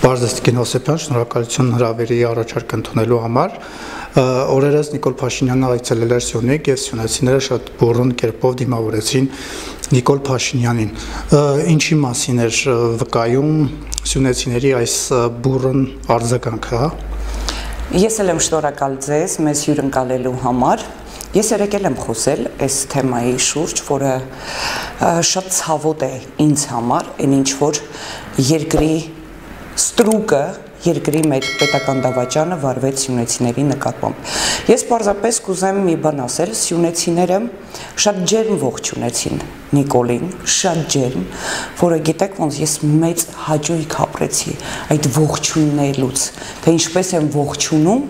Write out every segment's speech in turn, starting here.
Պարզեստիկին Հոսեփյան, շնորհակալություն հրավերի առաջարկ ընդունելու համար։ Օրերս Նիկոլ Փաշինյանը այցելել էր Սյունիք եւ սյունեցիները շատ բուռն կերպով դիմավորեցին Նիկոլ Փաշինյանին։ Ինչի մասին էր վկայում սյունեցիների այս բուռն արձագանքը, Ես էլ եմ շնորհակալ ձեզ մեզ հյուրընկալելու համար։ Ես եկել եմ խոսել այս թեմայի շուրջ, որը շատ ցավոտ է ինձ համար, այն ինչ որ երկրի ստրուկը, երկրի մեր պետական դավաճանը վարվեց սյունեցիների նկատմամբ։ Ես պարզապես կուզեմ մի բան ասել, սյունեցիները շատ ջերմ ողջունեցին Նիկոլին, շատ ջերմ, որը գիտեք ոնց ես մեծ հաճույք ապրեցի այդ ողջույնելուց, թե ինչպես են ողջունում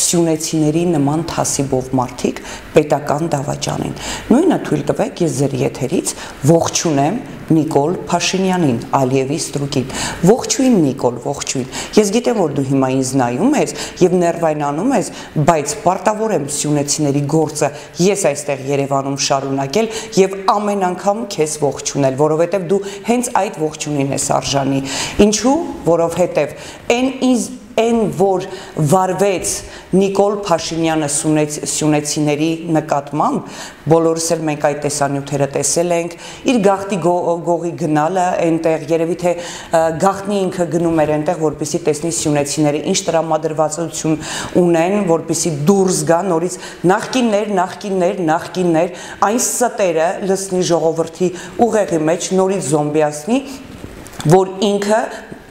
սյունեցիների նման թասիբով մարդիկ պետական դավաճանին։ Նույնը թույլ տվեք ես ձեր եթերից ողջունեմ Նիկոլ Փաշինյանին, Ալիևի ստրուկին։ Ողջույն Նիկոլ, ողջույն։ Ես գիտեմ, որ դու հիմա ինձ նայում ես եւ ներվայնանում ես, բայց պարտավոր եմ սյունեցիների գործը ես այստեղ Երևանում շարունակել եւ ամեն անգամ քեզ ողջունել, որովհետեւ դու հենց այդ ողջունին ես արժանի։ Ինչու? Որովհետեւ այն որ վարվեց Նիկոլ Փաշինյանը սյունեցիների նկատմամբ, բոլորս էլ մենք այդ տեսանյութերը տեսել ենք, իր գաղտնի գողի գնալը այնտեղ, երևի թե գաղտնի ինքը գնում էր այնտեղ, որպեսզի տեսնի սյունեցիները ինչ տրամադրվածություն ունեն, որպեսզի դուրս գա նորից նախկիններ, այն ստերը լցնի ժողովրդի ուղեղի մեջ, նորից զոմբիացնի, որ ինքը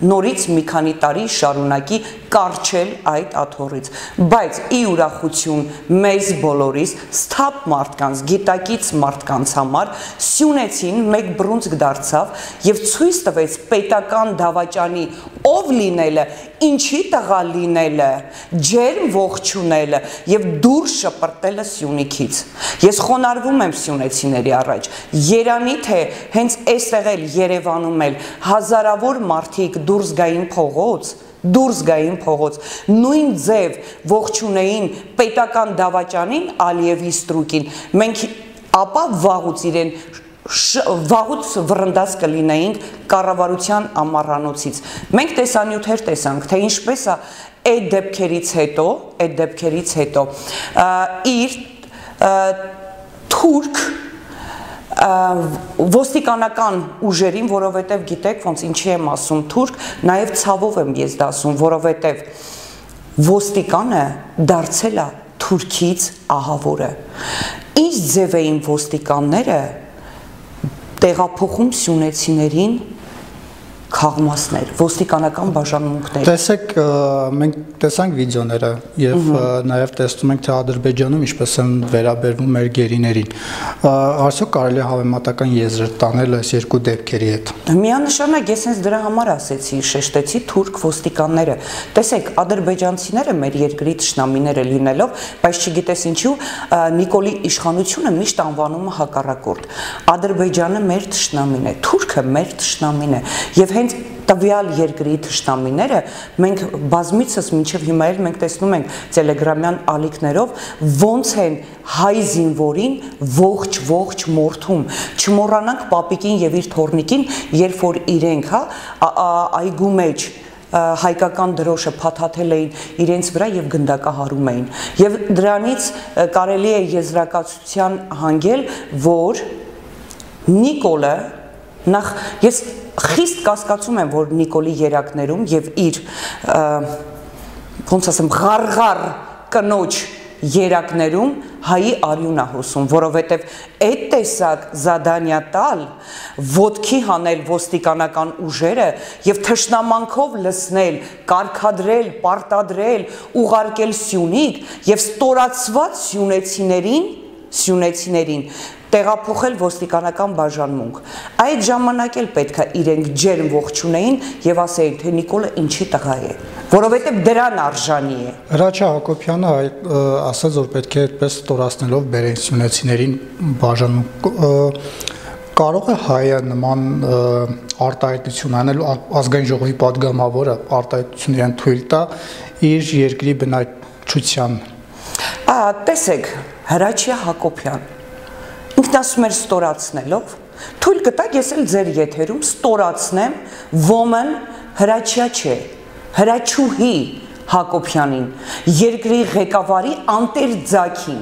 նորից մի քանի տարի շարունակի կարճել այդ աթոռից, բայց ի ուրախություն մեզ բոլորիս, սթափ մարդկանց, գիտակից մարդկանց համար սյունեցին մեկ բռունցք դարձավ եւ ցույց տվեց պետական դավաճանի ով լինելը, ինչի տղա լինելը, ջերմ ողջունելը եւ դուրս շպրտելը Սյունիքից։ Ես խոնարհվում եմ սյունեցիների առաջ։ Երանի թե հենց այստեղ էլ Երևանում էլ հազարավոր մարդիկ դուրս գային փողոց, նույն ձև ողջունեին պետական դավաճանին Ալիևի ստրուկին, մենք ապա վաղուց վռնդած կլինեինք կառավարության ամառանոցից։ Մենք տեսանյութեր տեսանք, թե ինչպես է այդ դեպքերից հետո իր թուրք ոստիկանական ուժերին, որովհետև գիտեք ոնց ինչի եմ ասում թուրք, նաև ցավով եմ ես դա ասում, որովհետև ոստիկանը դարձել է թուրքից ահավորը։ Ինչ ձև էին ոստիկանները տեղափոխում սյունեցիներին քաղմասներ, ոստիկանական բաժանմունքներ։ Տեսեք, մենք տեսանք վիդեոները եւ նաեւ տեսնում ենք թե Ադրբեջանում ինչպես են վերաբերվում մեր գերիներին։ Արդյոք կարելի է հավեմատական եզր տանել այս երկու դեպքերի հետ։ Միանշանակ ես հենց դրա համար ասեցի, շեշտեցի թուրք ոստիկանները։ Տեսեք, ադրբեջանցիները մեր երկրի թշնամիները լինելով, բայց չգիտես ինչու Նիկոլի իշխանությունը միշտ անվանում է հակառակորդ։ Ադրբեջանը մեր թշնամին է, թուրքը մեր թշնամին է եւ հենց տվյալ երկրի թշնամիները մենք բազմիցս մինչև հիմա էլ մենք տեսնում ենք տելեգրամյան ալիքներով ոնց են հայ զինվորին ողջ մորթում չմոռանանք պապիկին եւ իր թորնիկին երբ որ իրենք այգու մեջ հայկական դրոշը փաթաթել էին իրենց վրա եւ գնդակահարում էին եւ դրանից կարելի է եզրակացության հանգել որ Նիկոլը նախ ես խիստ կասկածում եմ, որ Նիկոլի երակներում եւ իր ոնց ասեմ ղարղար կնոջ երակներում հայի արյուն է հոսում, որովհետեւ այդ տեսակ զադանյա տալ ոտքի հանել ոստիկանական ուժերը եւ թշնամանքով լցնել, կարգադրել, պարտադրել, ուղարկել Սյունիք եւ ստորացված սյունեցիներին տեղափոխել ոստիկանական բաժանմունք։ Այդ ժամանակ էլ պետք է իրենք ջերմ ողջունեին եւ ասեին, թե Նիկոլը ինչի տղա է, որովհետեւ դրան արժանի է։ Հրաչյա Հակոբյանը ասաց, որ պետք է այդպես ստորացնելով բերեն սյունեցիներին բաժանմունք։ Կարող է հայը նման արտահայտություն անել ազգային ժողովի падգամավորը արտահայտություն իրեն թույլ տա իր երկրի բնակչության։ Տեսեք, Հրաչյա Հակոբյան ինքն ասում էր ստորացնելով, թույլ կտակ ես էլ ձեր եթերում ստորացնեմ, ոմն Հրաչյա չէ, Հրաչուհի Հակոբյանին, երկրի ղեկավարի անտեր ձագին։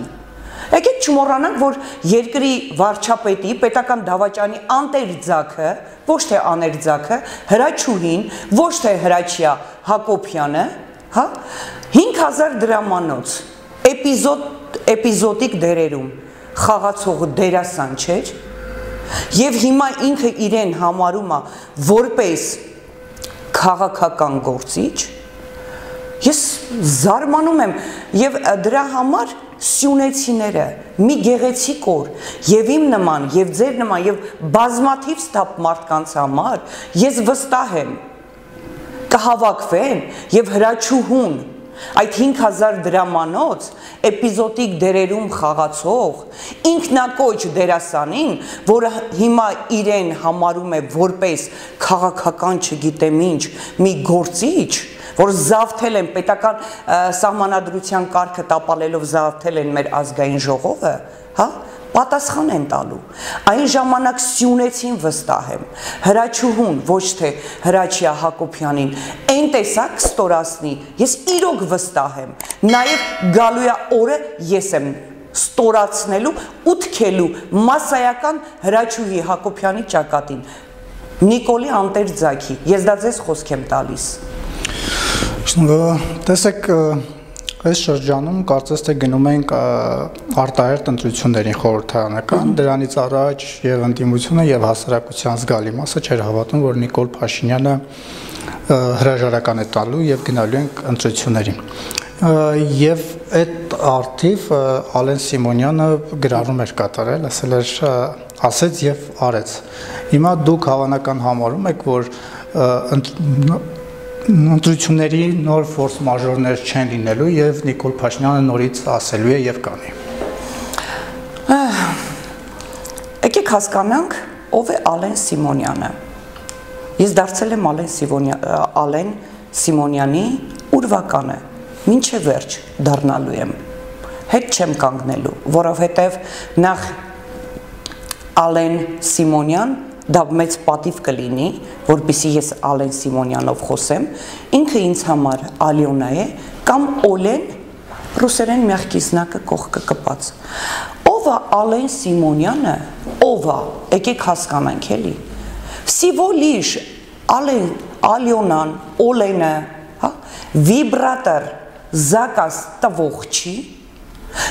Եկեք չմոռանանք, որ երկրի վարչապետի պետական դավաճանի անտեր ձագը, ոչ թե աներ ձագը, հրաչուհին, ոչ թե հրաչյա Հակոբյանը, հա, 5000 դրամանոց էպիզոդիկ դերերում խաղացող դերասան չէր, եւ հիմա ինքը իրեն համարում է որպես քաղաքական գործիչ, ես զարմանում եմ եւ դրա համար սյունեցիները մի գեղեցիկ օր եւ իմ նման եւ ձեր նման եւ բազմաթիվ ստապ մարդկանց համար ես վստահ եմ կհավաքվեն եւ հրաչուհուն այդ 5000 դրամանոց էպիզոդիկ դերերում խաղացող ինքնակոչ դերասանին, որը հիմա իրեն համարում է որպես քաղաքական չգիտեմ ինչ մի գործիչ, որ զավթել են պետական սահմանադրության կարգը տապալելով զավթել են մեր ազգային ժողովը, հա, պատասխան են տալու։ Այն ժամանակ սյունեցին վստահ եմ, հրաչուհուն, ոչ թե հրաչյա Հակոբյանին, այն տեսակ ստորացնի, ես իրոք վստահ եմ, նաև գալու է օրը ես եմ ստորացնելու ու թքելու մասսայական հրաչուհի Հակոբյանի ճակատին, Նիկոլի անտեր ձագի, ես դա ձեզ խոսք եմ տալիս։ Տեսեք, այս շրջանում կարծես թե գնում ենք արտահերթ ընտրություններին խորհրդարանական, դրանից առաջ եւ ընդդիմությունը եւ հասարակության զգալի մասը չէր հավատում, որ Նիկոլ Փաշինյանը հրաժարական է տալու եւ գնալու ենք ընտրություններին։ Եվ այդ արդիվ Ալեն Սիմոնյանը գրառում էր կատարել, ասեց եւ արեց։ Հիմա դուք հավանական համարում եք, որ ընտրությունների նոր ֆորս մաժորներ չեն լինելու եւ Նիկոլ Փաշինյանը նորից ասելու է եւ կանի։ Եկեք հասկանանք, ով է Ալեն Սիմոնյանը։ Ես դարձել եմ Ալեն Սիմոնյանի ուրվականը, մինչև վերջ դառնալու եմ։ Հետ չեմ կանգնելու, որովհետև նախ Ալեն Սիմոնյան դա մեծ պատիվ կլինի, որպեսզի ես Ալեն Սիմոնյանով խոսեմ, ինքը ինձ համար Ալյոնա է կամ Օլեն ռուսերեն մягкий знак կողքը կպած։ Ով է Ալեն Սիմոնյանը, ով է, եկեք հասկանանք էլի։ Всего лишь Ալյոնան, Օլենը, հա, վիբրատոր զակաս տվող չի,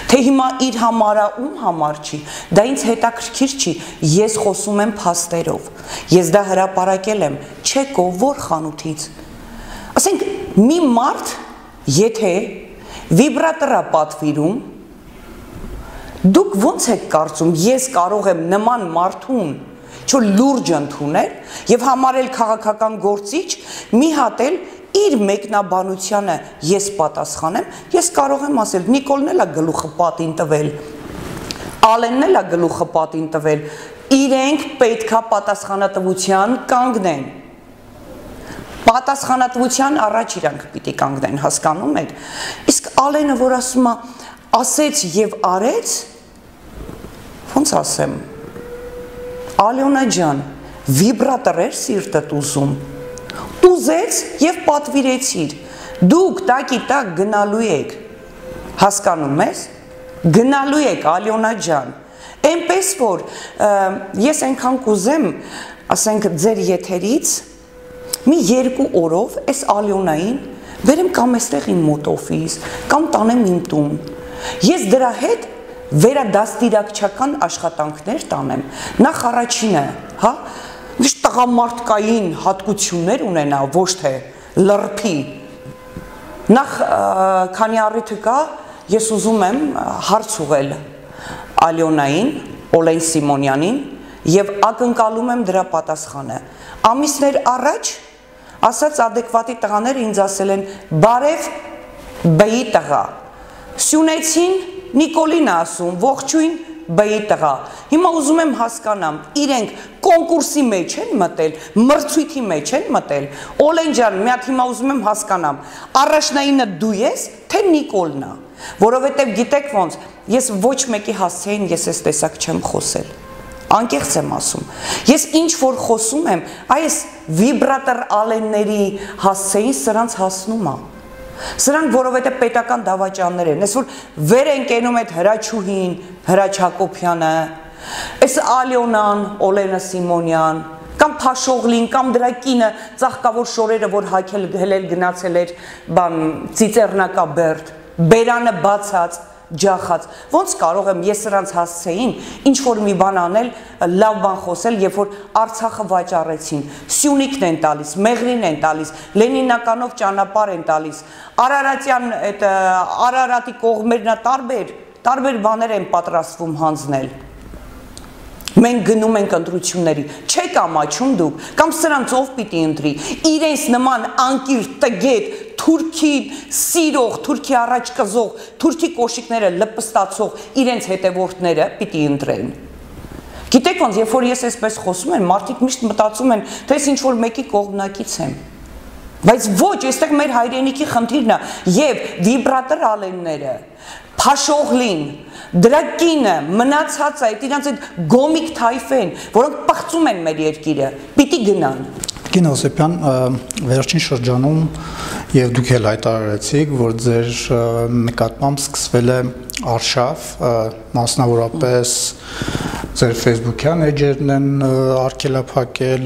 թե հիմա իր համարա ում համար չի, դա ինձ հետաքրքիր չի, ես խոսում եմ փաստերով, ես դա հրապարակել եմ, չեկով որ խանութից, ասենք մի մարդ, եթե վիբրատորա պատվիրում, դուք ոնց եք կարծում, ես կարող եմ նման մարդուն, չէ լուրջ ընդունել եւ համարել քաղաքական գործիչ, մի հատ էլ իր մեկնաբանությանը ես պատասխանեմ, ես կարող եմ ասել Նիկոլն էլ է գլուխը պատին տվել, Ալենն էլ է գլուխը պատին տվել, իրենք պետքա պատասխանատվության կանգնեն, պատասխանատվության առաջ իրանք պիտի կանգնեն, հասկանում եք, իսկ Ալենը, որ ասում է, ասեց եւ արեց, ոնց ասեմ, Ալյոնա ջան, վիբրատոր էր սիրտդ ուզում, ուզեց եւ պատվիրեցիր, դուք տակի տակ գնալու եք, հասկանում ես, գնալու եք Ալյոնա ջան, այնպես որ ես այնքան կուզեմ, ասենք ձեր եթերից, մի 2 օրով այս Ալյոնային բերեմ կամ այստեղ իմ մոտ օֆիս, կամ տանեմ իմ տուն, ես դրա հետ վերադաստիարակչական աշխատանքներ տանեմ, նախ առաջինը, հա, միշտ տղամարդկային հատկություններ ունենա, ոչ թե լրփի, նախ քանի առիթը կա, ես ուզում եմ հարց ուղղել Ալյոնային, Օլեն Սիմոնյանին եւ ակնկալում եմ դրա պատասխանը, ամիսներ առաջ ասած adekvati տղաները ինձ ասել են բարև բեի տղա, սյունեցին Նիկոլին ասում, ողջույն բեի տղա, հիմա ուզում եմ հասկանամ, իրենք կոնկուրսի մեջ են մտել, մրցույթի մեջ են մտել, Օլեն ջան, մի հատ հիմա ուզում եմ հասկանամ, առաջնայինը դու ես, թե Նիկոլն է, որովհետև գիտեք ոնց, ես ոչ մեկի հասցեին ես այս տեսակ չեմ խոսել, անկեղծ եմ ասում, ես ինչ որ խոսում եմ, այս վիբրատոր ալենների հասցեին սրանց հասնում է։ Սրանք որովհետև պետական դավաճաններ են, ես որ վեր են կենում այդ Հրաչուհին, Հրաչ Հակոբյանը, այս Ալյոնան, Օլենա Սիմոնյան, կամ Փաշողլին, կամ դրա կինը ծաղկավոր շորերը, որ հելել գնացել էր բան Ծիծեռնակաբերդ, բերանը բացած, ջախած, ոնց կարող եմ ես սրանց հասցեին ինչ որ մի բան անել, լավ բան խոսել, երբ որ Արցախը վաճառեցին, Սյունիքն են տալիս, Մեղրին են տալիս, Լենինականով ճանապարհ են տալիս, Արարատյան այդ Արարատի կողմերնա տարբեր բաներ են պատրաստվում հանձնել։ Մենք գնում ենք ընտրությունների, չեք ամաչում դուք, կամ սրանց ով պիտի ընտրի, իրենց նման անկիր տգետ, թուրքի սիրող, թուրքի առաջ կզող, թուրքի կոշիկները լպստացող իրենց հետևորդները պիտի ընտրեն։ Գիտեք ոնց, երբ որ ես այսպես խոսում եմ, մարդիկ միշտ մտածում են, թե ես ինչ-որ մեկի կողմնակից եմ։ Բայց ոչ, այստեղ մեր հայրենիքի խնդիրն է, եւ վիբրատոր ալենները, Փաշողլին, դրա կինը, մնացած է, իրանց այդ գոմիկ թայֆեն, որոնք պղծում են մեր երկիրը, պիտի գնան։ Տիկին Հովսեփյան, վերջին շրջանում եւ դուք էլ հայտարարեցիք, որ ձեր նկատմամբ սկսվել է արշավ, մասնավորապես ձեր Facebook-յան էջերն են արգելափակել,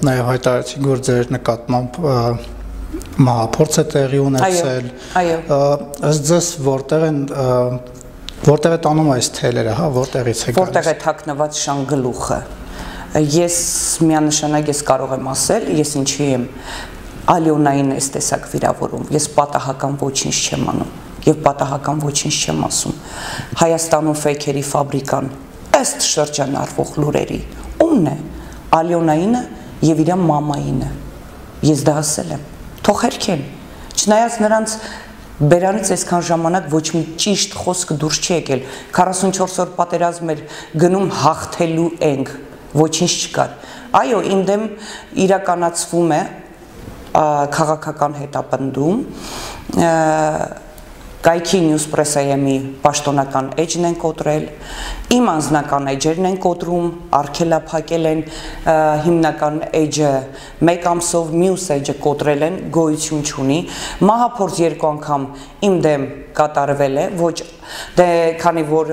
նաեւ հայտարարեցիք, որ ձեր նկատմամբ մահափորձ է տեղի ունեցել։ Ըստ ձեզ որտեղ է տանում այս թելերը, հա, որտեղից է գալիս։ Որտեղ է թաքնված շանգլուխը։ Ես միանշանակ ես կարող եմ ասել, ես ինչի եմ Ալյոնային այս տեսակ վիրավորում, ես պատահական ոչինչ չեմ անում եւ պատահական ոչինչ չեմ ասում։ Հայաստանում ֆեյքերի ֆաբրիկան ըստ շրջանառվող լուրերի ումն է Ալյոնայինը եւ իր մամայինը։ Ես դա ասել եմ, թող հերքեն, չնայած նրանց բերանից այսքան ժամանակ ոչ մի ճիշտ խոսք դուրս չի եկել, 44 օր պատերազմ էր գնում հաղթելու ենք, ոչինչ չկար։ Այո, իմ դեմ իրականացվում է քաղաքական հետապնդում, Կայքի Նյուզպրեսայեմի պաշտոնական էջն են կոտրել, իմ անձնական էջերն են կոտրում, արգելափակել են հիմնական էջը մեկ ամսով, մյուս էջը կոտրել են, գոյություն չունի, մահափորձ 2 անգամ իմ դեմ կատարվել է, ոչ դե քանի որ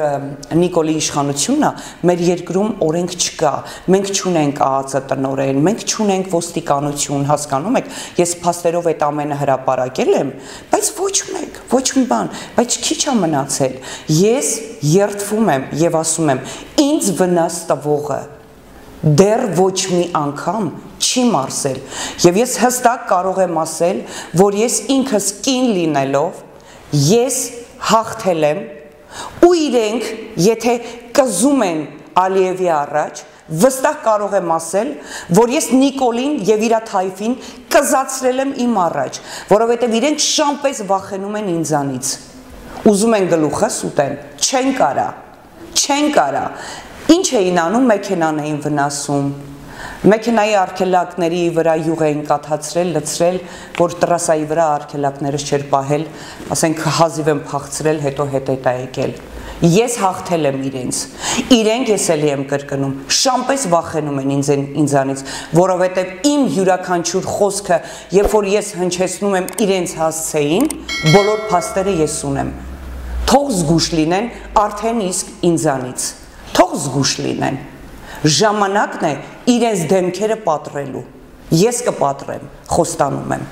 Նիկոլի իշխանությունն է, մեր երկրում օրենք չկա, մենք չունենք ԱԱԾ տնօրեն, մենք չունենք ոստիկանություն, հասկանում եք, ես փաստերով այդ ամենը հրապարակել եմ, բայց ոչ մեկ, ոչ մի բան, բայց քիչ է մնացել, ես երդվում եմ եւ ասում եմ, ինձ վնաս տվողը դեռ ոչ մի անգամ չի մարսել եւ ես հստակ կարող եմ ասել, որ ես ինքս կին լինելով ես հաղթել եմ ու իրենք եթե կզում են Ալիևի առաջ վստահ կարող եմ ասել, որ ես Նիկոլին եւ իր թայֆին կզացրել եմ իմ առաջ, որովհետեւ իրենք շամպես վախենում են ինձանից։ Ուզում են գլուխս ուտեն, չեն կարա։ Ինչ էին անում, մեքենան էին վնասում։ Մեքենայի արգելակների վրա յուղ էին կաթացրել, լցրել, որ տրասայի վրա արգելակներս չէր պահել, ասենք հազիվ եմ փախցրել, հետո հետ է եկել։ Ես հաղթել եմ իրենք ես էլի եմ կրկնում, շամպես վախենում են ինձանից, որովհետև իմ յուրաքանչյուր խոսքը, երբ որ ես հնչեցնում եմ իրենց հասցեին, բոլոր փաստերը ես ունեմ։ Թող զգուշ լինեն արդեն իսկ ինձանից, թող զգուշ լինեն, ժամանակն է իրենց դեմքերը պատռելու, ես կպատրեմ, խոստանում եմ։